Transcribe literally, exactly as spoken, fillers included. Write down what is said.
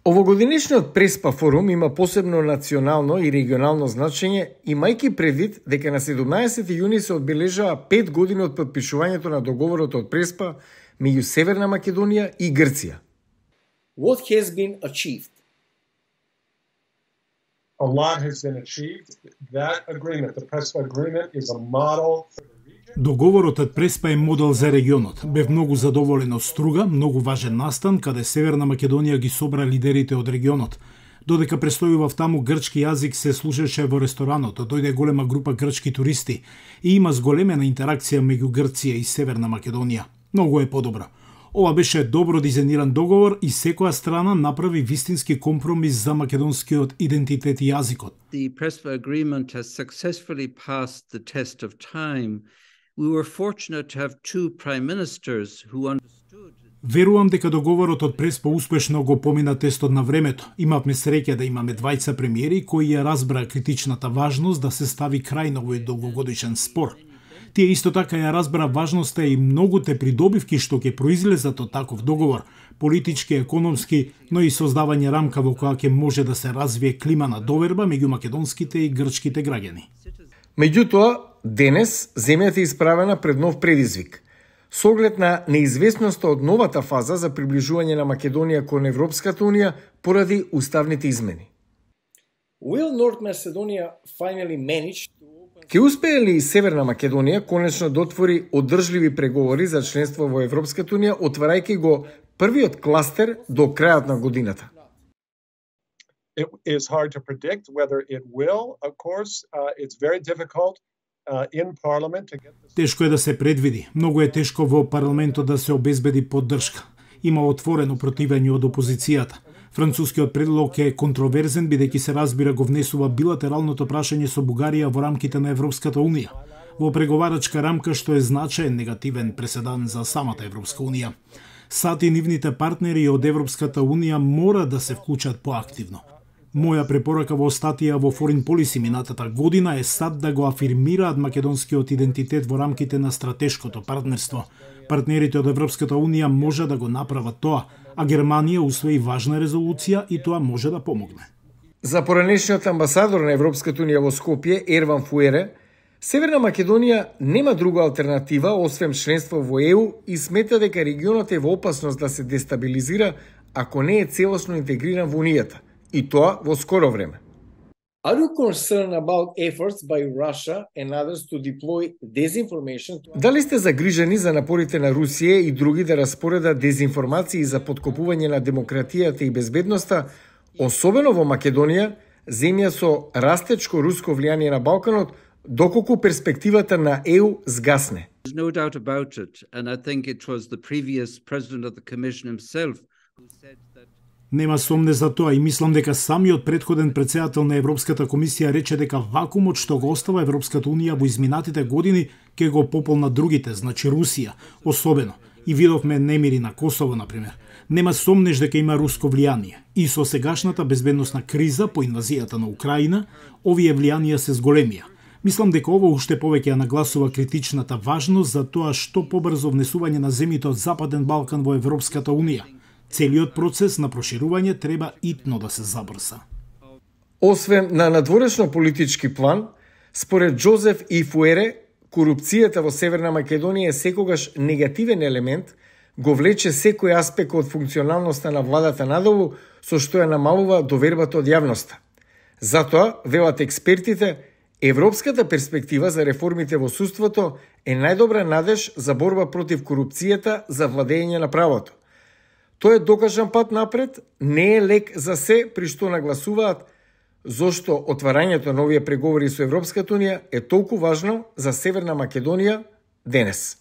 Овогодинешниот Преспа форум има посебно национално и регионално значење, имајќи предвид дека на седумнаесети јуни се одбележаа пет години од потпишувањето на договорот од Преспа меѓу Северна Македонија и Грција. What has been achieved? A lot has been achieved. That agreement, the Prespa agreement, is a model. Договорот од Преспа е модел за регионот. Бев многу задоволен од Струга, многу важен настан, каде Северна Македонија ги собра лидерите од регионот. Додека престојував таму, грчки јазик се слушаше во ресторанот, дојде голема група грчки туристи и има зголемена интеракција меѓу Грција и Северна Македонија. Многу е подобро. Ова беше добро дизајниран договор и секоја страна направи вистински компромис за македонскиот идентитет и јазикот. The Prespa agreement has successfully passed the test of time. We were fortunate to have two prime ministers who understood. Верувам дека договорот од Преспа успешно го помина тестот на времето. Имавме среќа да имаме двајца премиери кои ја разбраа критичната важност да се стави крај на овој долгогодишен спор. Тие исто така ја разбра важноста и многуте придобивки што ќе произлезат од таков договор, политички, економски, но и создавање рамка во која ќе може да се развие клима на доверба меѓу македонските и грчките граѓани. Меѓутоа, денес земјата е исправена пред нов предизвик. Со оглед на неизвестноста од новата фаза за приближување на Македонија кон Европската унија поради уставните измени. Will North Macedonia finally manage to open... Ке успее ли Северна Македонија конечно да отвори одржливи преговори за членство во Европската унија, отварајќи го првиот кластер до крајот на годината? It is hard to predict whether it will, of course. Uh, it's very difficult uh, in parliament to get this... Тешко е да се предвиди. Многу е тешко во парламентот да се обезбеди поддршка. Има отворено противење од опозицијата. Францускиот предлог е контроверзен бидејќи се разбира го внесува билатералното прашање со Бугарија во рамките на Европската унија, во преговарачка рамка што е значаен негативен преседан за самата Европска унија. САД и нивните партнери од Европската унија мора да се вклучат поактивно. Моја препорака во статија во Foreign Policy минатата година е САД да го афирмираат македонскиот идентитет во рамките на стратешкото партнерство. Партнерите од Европската унија може да го направат тоа, а Германија усвои важна резолуција и тоа може да помогне. За поранешниот амбасадор на Европската унија во Скопје, Ерван Фуере, Северна Македонија нема друга алтернатива освен членство во Е У и смета дека регионот е во опасност да се дестабилизира ако не е целосно интегриран во Унијата, и тоа во скоро време. Are you concerned about efforts by Russia and others to deploy disinformation? To... Дали сте загрижени за напорите на Русија и други да распоредат дезинформации за поткопување на демократијата и безбедноста, особено во Македонија, земја со растечко руско влијание на Балканот, доколку перспективата на Е У згасне? There's no doubt about it, and I think it was the previous president of the commission himself who said that Нема сомне за тоа и мислам дека самиот претходен претседател на Европската комисија рече дека вакуумот што го остава Европската унија во изминатите години ќе го пополна другите, значи Русија, особено. И видовме немири на Косово, например. Нема сомнеш дека има руско влијание. И со сегашната безбедносна криза по инвазијата на Украина, овие влијанија се зголемија. Мислам дека ово уште повеќе ја нагласува критичната важност за тоа што побрзо внесување на земјите од Западен Балкан во Европската унија. Целиот процес на проширување треба итно да се забрза. Освен на надворешно политички план, според Джозеф И Фуере, корупцијата во Северна Македонија е секогаш негативен елемент, го влече секој аспект од функционалноста на владата надолу, со што ја намалува довербата од јавноста. Затоа, велат експертите, европската перспектива за реформите во судството е најдобра надеж за борба против корупцијата за владење на правото. Тоа е докажан пат напред, не е лек за се, при што нагласуваат зошто отварањето на овие преговори со Европската унија е толку важно за Северна Македонија денес.